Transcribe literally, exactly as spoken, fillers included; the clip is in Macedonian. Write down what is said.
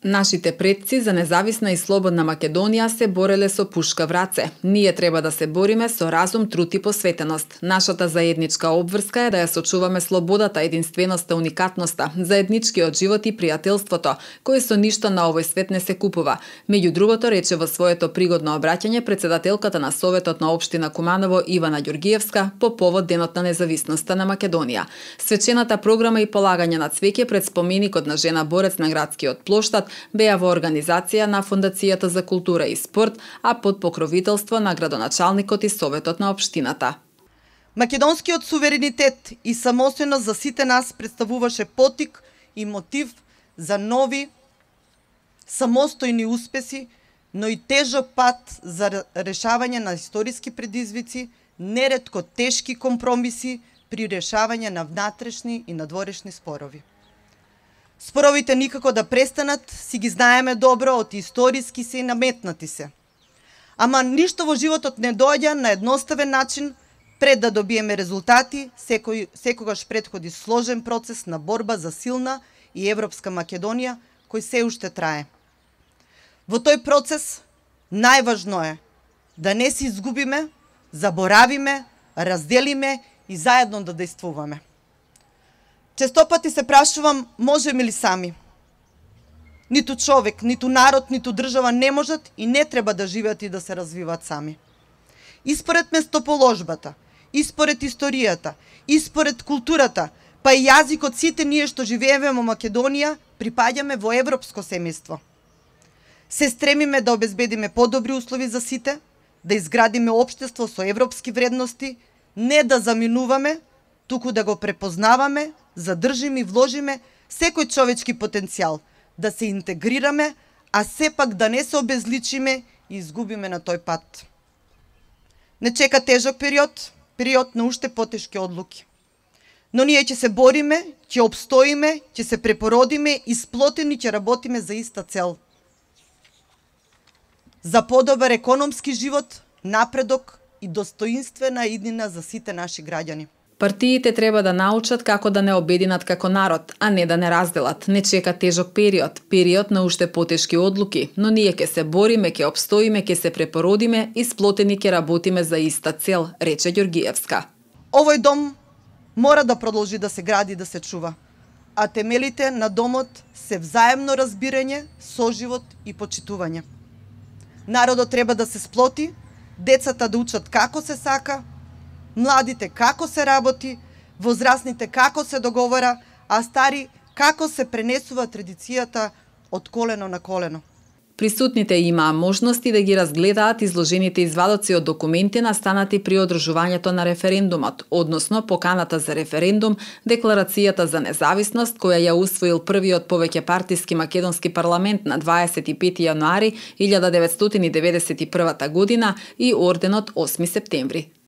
Нашите предци за независна и слободна Македонија се бореле со пушка в раце. Ние треба да се бориме со разум, труд и посветеност. Нашата заедничка обврска е да ја сочуваме слободата, единственоста, уникатноста, заедничкиот живот и пријателството, кој со ништо на овој свет не се купува. Меѓу другото, рече во своето пригодно обраќање председателката на Советот на општина Куманово Ивана Ѓургиевска по повод Денот на независноста на Македонија. Свечената програма и полагање на цвеќе пред споменикот на жена борец на градскиот плоштад беа во организација на Фондацијата за култура и спорт, а под покровителство на градоначалникот и Советот на општината. Македонскиот суверенитет и самостојност за сите нас представуваше поттик и мотив за нови самостојни успеси, но и тежок пат за решавање на историски предизвици, неретко тешки компромиси при решавање на внатрешни и надворешни спорови. Споровите никако да престанат, си ги знаеме добро, од историски се и наметнати се. Ама ништо во животот не доаѓа на едноставен начин. Пред да добиеме резултати, секој, секогаш предходи сложен процес на борба за силна и европска Македонија, кој се уште трае. Во тој процес најважно е да не се изгубиме, заборавиме, разделиме и заедно да действуваме. Често пати се прашувам, можеме ли сами? Ниту човек, ниту народ, ниту држава не можат и не треба да живеат и да се развиваат сами. И според местоположбата, и според историјата, и според културата, па и јазикот, сите ние што живееме во Македонија, припаѓаме во европско семејство. Се стремиме да обезбедиме подобри услови за сите, да изградиме општество со европски вредности, не да заминуваме, туку да го препознаваме, задржиме и вложиме секој човечки потенцијал, да се интегрираме, а сепак да не се обезличиме и изгубиме на тој пат. Не чека тежок период, период на уште потешки одлуки. Но ние ќе се бориме, ќе обстоиме, ќе се препородиме и сплотени ќе работиме за иста цел. За подобар економски живот, напредок и достоинствена иднина за сите наши граѓани. Партиите треба да научат како да не обединат како народ, а не да не разделат. Не чека тежок период, период на уште потешки одлуки, но ние ќе се бориме, ќе обстоиме, ќе се препородиме и сплотени ќе работиме за иста цел, рече Ѓургиевска. Овој дом мора да продолжи да се гради и да се чува, а темелите на домот се взаемно разбирање, соживот и почитување. Народот треба да се сплоти, децата да учат како се сака, младите како се работи, возрастните како се договара, а стари како се пренесува традицијата од колено на колено. Присутните имаа можности да ги разгледаат изложените извадоци од документи настанати при одржувањето на референдумот, односно поканата за референдум, декларацијата за независност која ја усвоил првиот повеќепартиски македонски парламент на дваесет и пети јануари илјада деветстотини деветдесет и прва година и орденот осми септември.